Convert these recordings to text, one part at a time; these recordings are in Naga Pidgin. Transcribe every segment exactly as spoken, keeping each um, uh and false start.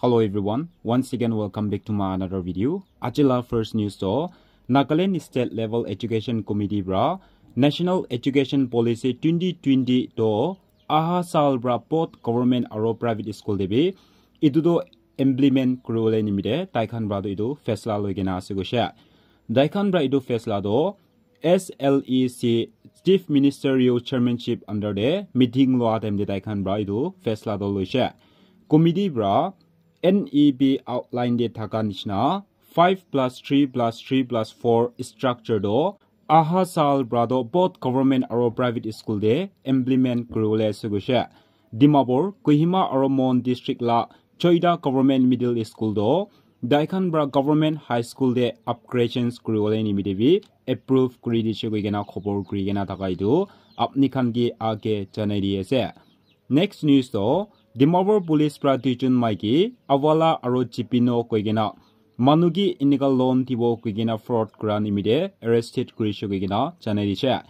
Hello everyone, once again welcome back to my another video. Aji la first news to Nagaland State Level Education Committee pra National Education Policy twenty twenty to aha sal pra both government aro private school te bi itu to implement kuribole nimite tai khan pra to itu faisla loi kena ase koishe. Tai khan pra itu faisla to S L E C Chief Minister yo chairmanship under de meeting loa time de tai khan pra itu faisla to loishe. Committee pra N E P outline de thaka nishina five plus three plus three plus four structure to aha sal pra to both government aro private school de implement kuribole ase koishe. Dimapur, Kohima aro Mon district la choita government middle school to tai khan pra government high school de upgradations kuribole nimite bi approve kuri dishe koi kena khobor kuri kena thaka itu apni khan ke age janai di ase. Next news to Dimapur police pra duijon maiki Awala aro Chipino koi kena manu ki inika loan dibo koi kena fraud kura nimite arrested kurishe koi kena janai dishe.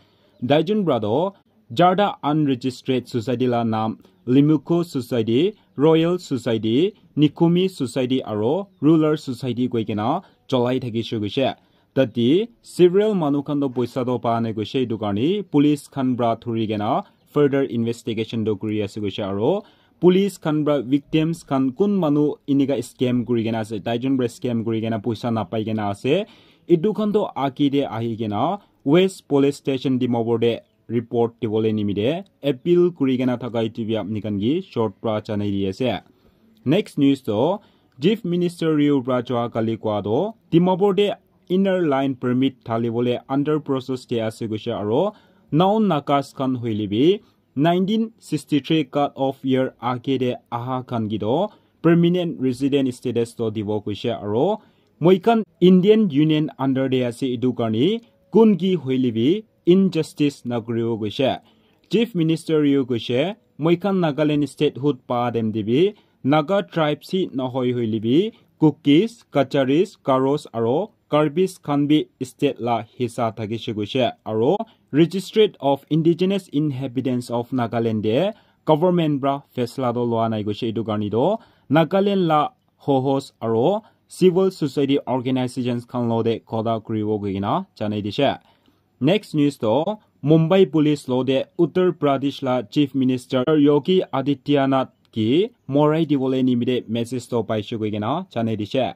Duijon pra to jarta unregistered society la naam Limuko Society, Royal Society, Nikumi Society aro Ruler Society koi kena cholai thakishe koishe. Tate several manu khan to poisa to pa nai koishe, itu karne police khan pra thuri kena further investigation to kuri ase koishe aro police khan pra victims khan kun manu inika scam kuri kena ase, tai jon pra scam kuri kena poisa napai kena ase, itu khan to age de ahi kena West Police Station Dimapur de report dibole nimite appeal kuri kena thaka itu bi apni khan ki short pra janai di ase. Next news to Chief Minister yo pra joa kali koa to Dimapur de inner line permit thalibole under process de ase koishe aro non Nagas khan hoile bi nineteen sixty-three cut off year age de aha khan ki to permanent resident status to dibo koishe aro moi khan Indian Union under de ase itu karne kun ki hoile bi injustice nakuribo koishe. Chief Minister yo koishe moi khan Nagaland statehood pa time de bi Naga tribes hi nohoi hoile bi Kukis, Kacharis, Garos aro Karbis khan bi state la hissa thakishe koishe aro Registry of Indigenous Inhabitants of Nagaland de government pra faisla to loa nai koishe, itu karne to Nagaland la hohos aro civil society organizations khan lo de kotha kuribo koi kena janai dishe. Next news to Mumbai police lo de Uttar Pradesh la Chief Minister Yogi Adityanath ki morai dibole nimite message to paishe koi kena janai dishe.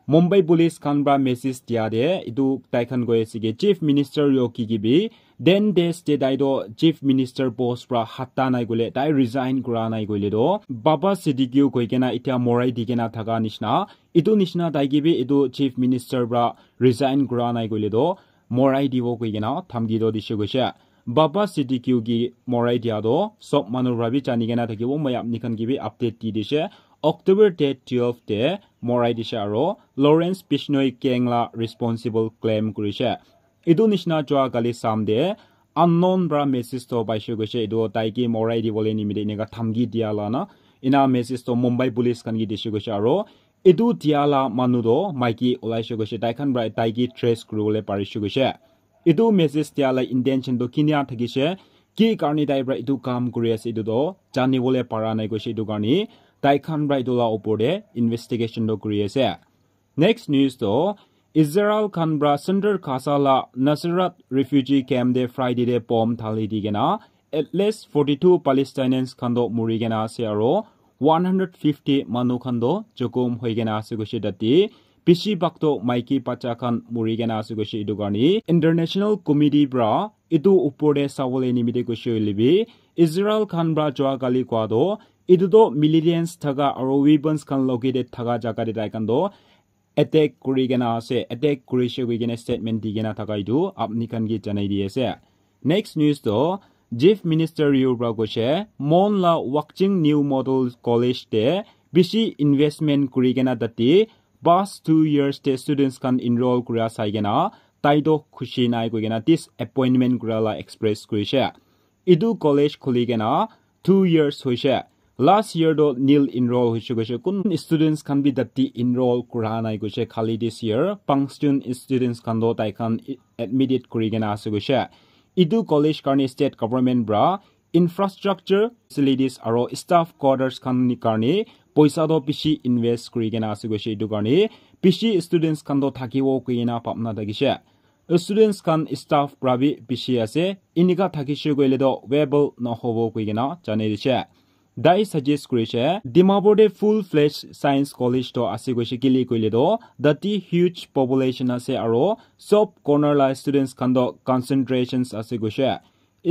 Mumbai police khan pra message dia de itu tai khan koi ase ki Chief Minister Yogi ki bi ten days de tai to Chief Minister post pra hatta nai koile, tai resign kura nai koile to Baba Siddique koi kena itya morai di kena thaka nishina, itu nishina tai ki bi itu Chief Minister pra resign kura nai koile to morai dibo koi kena dhamki to dishe koishe. Baba Siddique ki morai dia to sob manu pra bi jani kena thakibo, moi apni khan ki bi update di dishe. October date twelve de morai dishe aro Lawrence Bishnoi gang la responsible claim kurishe. Itu nishina joa kali sam de unknown pra message to paishe koishe, itu tai ki morai dibole nimite eneka dhamki dia la na. Ina message to Mumbai police khan ki dishe koishe aro itu dia la manu to maiki olaishe koishe, tai khan pra tai ki trace kuribole parishe koishe. Itu message dia la intention to kinia thakishe, ki karne tai pra itu kam kuri ase itu to janibole para nai koishe, itu karne tai khan pra itu la opor de investigation to kuri ase. Next news to Israel khan pra Central Gaza la Nuseirat refugee camp de Friday de bomb thali di kena at least forty-two Palestinians khan to muri kena ase aro one hundred fifty manu khan to jokhom hoi kena ase koishe tate. Bishi bhag to maiki bacha khan muri kena ase koishe, itu karne International Committee pra itu upor de sabole nimite koishe hoile bi Israel khan pra joa kali koa to itu to militants thaka aro weapons khan located thaka jaga de tai khan to attack kuri kena ase, attack kurishe koi kena statement di kena thaka itu apni khan ki janai di ase. Next news to Chief Minister yo pra koishe Mon la Wakching New Model College de bishi investment kuri kena tate past two years de students khan enroll kura sai kena tai to khushi nai koi kena disappointment kura la express kurishe. Itu college khuli kena two years hoishe. Last year to nil enroll hoishe koishe, kun students khan bi tate enroll kura nai koishe, khali this year pangstun students khan to tai khan admitted kuri kena ase koishe. Itu college karne state government pra infrastructure, facilities aro staff quarters khan ni karne poisa toh bishi invest kuri kena ase koishe, etu karne bishi students khan toh thakibo koi kena bhabna thakishe. Students khan staff pra bi bishi ase, enika thakishe koile toh viable nahobo koi kena janai dishe. Tai suggest kurishe, Dimapur te full fledged science college toh ase koishe, kile koile toh tate huge population ase aro sob corner la students khan toh concentrations ase koishe.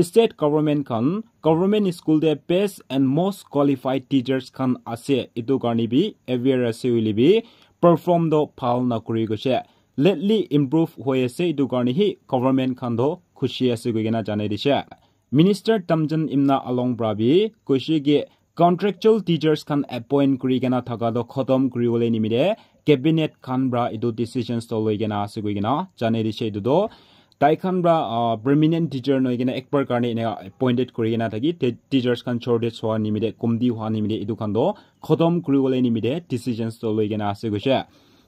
State government khan government school te best and most qualified teachers khan ase, etu karne bi aware ase hoile bi perform toh bhal nakuri koishe. Lately improve hoi ase, etu karne hi government khan toh khushi ase koi kena janai dishe. Minister Tamjan Imna Along pra bi koishe ki contractual teachers khan appoint kuri kena thaka toh khotom kuri bole nimite cabinet khan pra etu decisions toh loi kena ase koi kena janai dishe. Etu toh tai khan pra, ah, permanent teacher noi kena ek bar karne ena appointed kuri kena thaki te-, teachers khan shortage hwa nimite, komti hwa nimite etu khan toh khotom kuri bole nimite decisions toh loi kena ase koishe.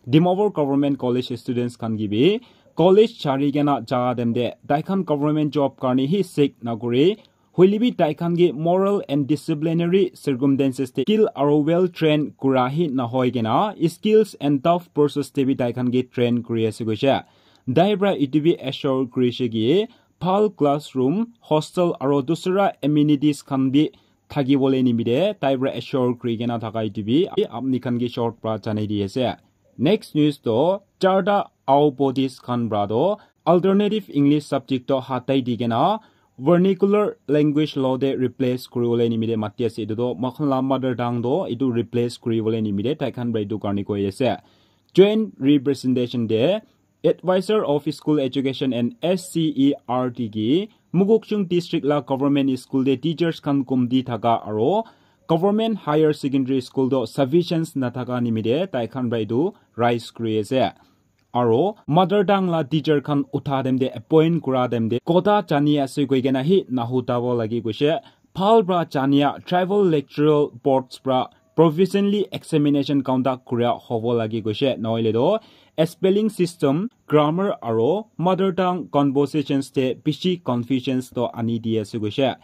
Dimapur Government College students khan ki bi college chari kena ja time te tai khan government job karne hi seek nakuri, hoile bi tai khan ki moral and disciplinary circumstances te skill aro well trained kura hi nahoi kena skills and tough process te bi tai khan ki train kuri ase koishe. Tai pra etu bi assure kurishe ki bhal classroom, hostel aro dusra amenities khan bi thaki bole nimite tai pra assure kuri kena thaka etu bi apni khan ki short pra janai di ase. Next news toh charta Ao Buddhist khan pra toh alternative English subject toh hatai di kena vernacular language lo te replace kuri bole nimite mati ase. Etu toh moikhan la mother tongue toh etu replace kuri bole nimite tai khan pra etu karne koi ase. Joint representation te Advisor of School Education and S C E R T ki Mokokchung District la government school te teachers khan komti thaka aro government higher secondary school toh sufficient nathaka nimite tai khan pra etu raise kuri ase. Aro mother tongue la teacher khan utha time te appoint kura time te kota jani ase koi kena hi nahuta bo lagi koishe. Bhal pra jania tribal lectoral boards pra professionally examination conduct kuria hobo lagi koishe, nohoile toh spelling system, grammar aro mother tongue conversations te bishi confusions toh ani di ase koishe.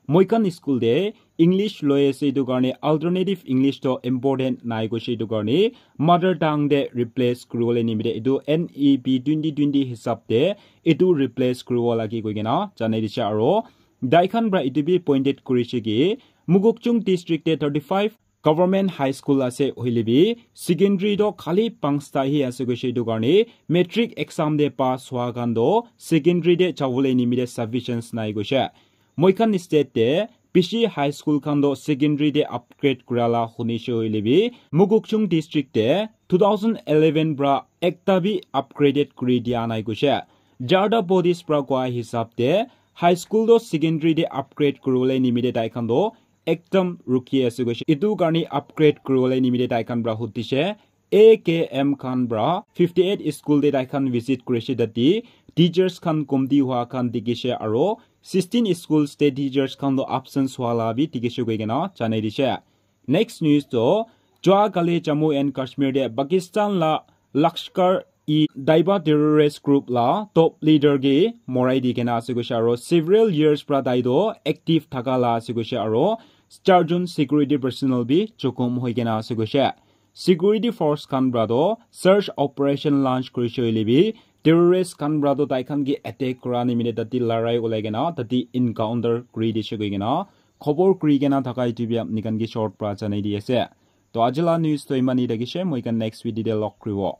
Moikhan school te English loi ase, etu karne alternative English toh important nai koishe, etu karne mother tongue te replace kuri bole nimite etu N E P twenty twenty hisab te etu replace kuri bo lagi koi kena janai dishe. Aro tai khan pra etu bi pointed kurishe ki Mokokchung District te thirty five government high school ase, hoile bi secondary toh khali panchta hi ase koishe, etu karne matric exam te pass hwa khan toh secondary te jabole nimite sufficient nai koishe. Moikhan state te bishi high school khan toh secondary te upgrade kura la hunishe hoile bi Mokokchung District te two thousand eleven pra ekta bi upgraded kuri dia nai koishe. Charta Buddhist pra koa hisab te high school toh secondary te upgrade kuri bole nimite tai khan toh ekdam rukhi ase koishe. Etu karne upgrade kuri bole nimite tai khan pra hudishe. A K M khan pra fifty eight school te tai khan visit kurishe, tate teachers khan komti hwa khan dikhishe aro sixteen schools te teachers khan toh absence hwa la bi dikhishe koi kena janai dishe. Next news toh jua kali Jammu and Kashmir te Pakistan la Lashkar-e-Taiba terrorist group la top leader ke morai di kena ase koishe aro several years pra tai toh active thaka la ase koishe aro charjon security personnel bi jokhom hoi kena ase koishe. Security force khan pra toh search operation launch kurishe hoile bi terrorist khan pra toh tai khan ke attack kura nimite tate larai ulai kena tate encounter kuri dishe koi kena khobor kuri kena thaka etu bi apni khan ke short pra janai di ase. To aji la news toh iman hi thakishe, moikhan next video te log kuribo.